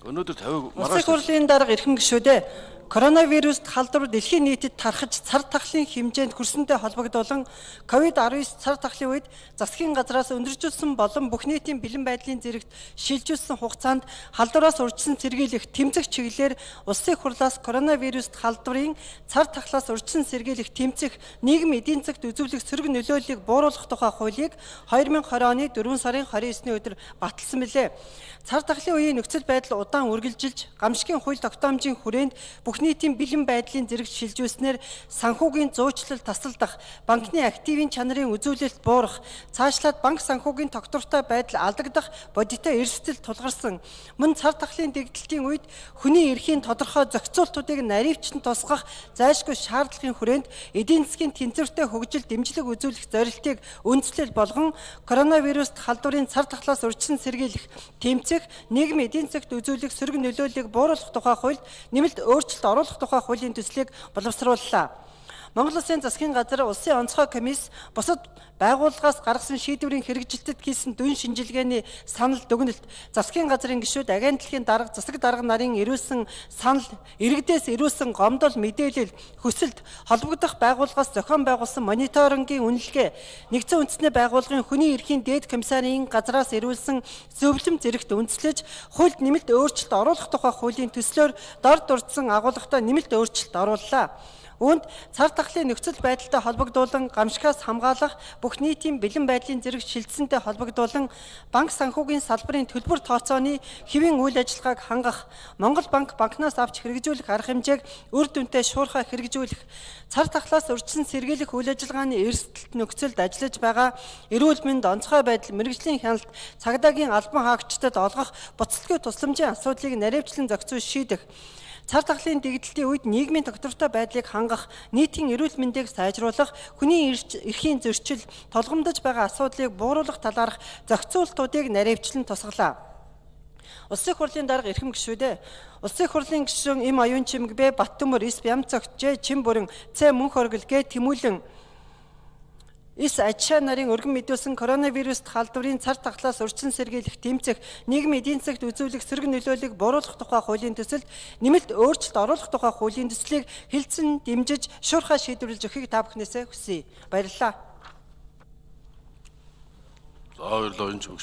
Өнөөдөр 50 Улсын хурлын дарга эрхэм гишүүдээ коронавируст халдвар дэлхийн нийтэд тархаж цар тахлын хэмжээнд хүрсэнтэй холбогдуулан COVID-19 цар тахлын үед засгийн газраас өндөржүүлсэн болон бүх нийтийн бэлэн байдлын зэрэгт шилжүүлсэн хугацаанд халдвараас урьдчилан сэргийлэх тэмцэх чиглэлээр улсын хурлаас коронавируст халдварын цар тахлаас урьдчилан сэргийлэх тэмцэх нийгмийн эдийн засгт үзүүлэх сөрөг нөлөөллийг бууруулах тухай хуулийг 2020 оны 4 сарын 29-ны өдөр баталсан билээ. Цар тахлын үеийн нөхцөл байдал удаан үргэлжилж, гамшигын хууль тогтоомжийн хүрээнд бүх нийтийн бэлэн байдлын зэрэгт шилжүүлснээр санхүүгийн зуучлал тасалдах, банкны активын чанарын үзүүлэлт буурах, цаашлаад банк санхүүгийн тогтвортой байдал алдагдах бодиттой эрсдэл тулгарсан. Мөн цар тахлын дэгдэлтийн үед хүний эрхийн тодорхой зохицуултуудыг наривчлан тусгах зайлшгүй шаардлагын хүрээнд эдийн засгийн тэнцвэртэй хөгжил дэмжлэг үзүүлэх зорилтыг үндэслэл болгон коронавируст халдварын цар тахлаас урьдчилан сэргийлэх, тэмцэх, нийгмийн эдийн засгт үзүүлэх сөрөг нөлөөллийг бууруулах тухай хуульд нэмэлт өөрчлөлт оруулах тухай хуулийн төслийг боловсрууллаа. Монгол Улсын засгийн газар улсын онцгой комисс бусад байгууллагаас гаргасан шийдвэрийн хэрэгжилтэд хийсэн дүн шинжилгээний санал дүгнэлт, засгийн газрын гишүүд, агентлагийн дарга, засаг дарга нарын ирүүлсэн санал, иргэдээс ирүүлсэн гомдол мэдээлэл, хүсэлт, холбогдох байгууллагаас зохион байгуулсан мониторингийн үнэлгээ, нэгдсэн үндэсний байгууллагын хүний эрхийн дээд комиссарын газраас ирүүлсэн зөвлөм зэрэгт үндэслэж, хуульд нэмэлт өөрчлөлт оруулах тухай хуулийн төслөөр дор дурдсан агуулгатай нэмэлт өөрчлөлт орууллаа. Үүнд цар тахлын нөхцөл байдалтай холбогдуулан гамшигаас хамгаалах, бүх нийтийн бэлэн байдлын зэрэг шилжсэнтэй холбогдуулан банк санхүүгийн салбарын төлбөр тооцооны хэвийн үйл ажиллагааг хангах, Монгол банкнаас авч хэрэгжүүлэх арга хэмжээг үр дүнтэй шуурхай хэрэгжүүлэх, цар тахлаас урьдчилан сэргийлэх үйл ажиллагааны эрсдэлт нөхцөлд ажиллаж байгаа эрүүл мэнд, онцгой байдал, мэргэжлийн хяналт, цагдаагийн албан хаагчдад олгох буцалтгүй тусламжийн асуудлыг наривчлан зохицуулж шийдэх, цар тахлын дэгдэлтийн үед нийгмийн тогтвортой байдлыг хангах, нийтийн эрүүл мэндийг сайжруулах, хүний эрхийн зөрчил, толгомдож байгаа асуудлыг бууруулах талаарх зохицуултуудыг наривчлан тусгалаа. Улсын хурлын дарга эрхэм гишүүдээ Улсын хурлын гишүүн Им Оюун Чимэг Б Баттөмөр Эс Бямцогт Ж Чин Бүрэн Ц Мөнх Оргил Г Тэмүүлэн Эс Ачаа нарын өргөн мэдүүлсэн коронавируст халдварын цар тахлаас урьдчилан сэргийлэх, тэмцэх, нийгмийн эдийн засгт үзүүлэх сөрөг нөлөөллийг бууруулах тухай хуулийн төсөлд нэмэлт өөрчлөлт оруулах тухай хуулийн төслийг хэлэлцэн дэмжиж шуурхай шийдвэрлэж өгөхийг та бүхнээсээ хүсье. Баярлалаа. За баярлалаа.